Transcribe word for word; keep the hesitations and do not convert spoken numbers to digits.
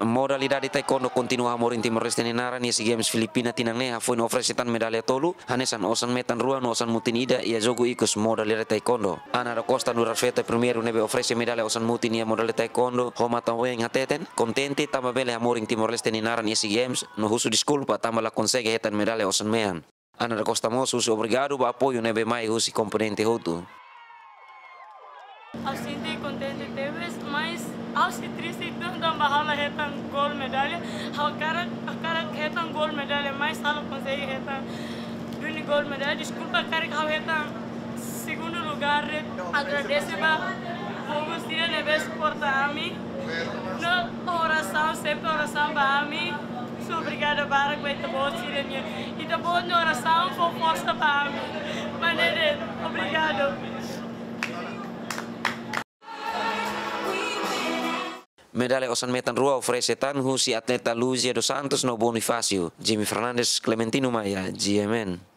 Modalidade taekwondo kontinua hamoris Timor-Leste nia naran iha SEA Games Filipina tinan ne'e, hafoin oferese tan medalla tolu, hanesan osan metan rua no osan mutin ida iha jogu ikus modalidade taekwondo. Ana da Costa, nu'udar feto primeiru ne'ebé oferese medalla osan mutin iha modalidade taekwondo, ho matan-ween hateten kontente tanba bele hamoris Timor-Leste nia naran iha SEA Games, no husu deskulpa tanba la konsege hetan medalla osan mean. Ana da Costa mós husu obrigadu ba apoiu ne'ebé mai husi komponente hotu. Ha'u sente kontente tebes, mas ha'u sei triste tan tanba ha'u la hetan gold medalla. Ha'u hakarak, hakarak hetan gold medalla, mas ha'u la konsege hetan duni gold medalla. Deskulpa karik ha'u hetan segundu lugár. Agradese ba povu sira ne'ebé suporta ami. No orasaun, sempre orasaun ba ami. Sou obrigada barak ba ita-boot sira-nian. Ita-boot nia orasaun fó forsa ba ami. Maun Dede, obrigadu. Medalla osan metan rua oferese tan husi atleta Luzia dos Santos no Bonifácio. Jimmy Fernandes, Clementino Maia, G M N.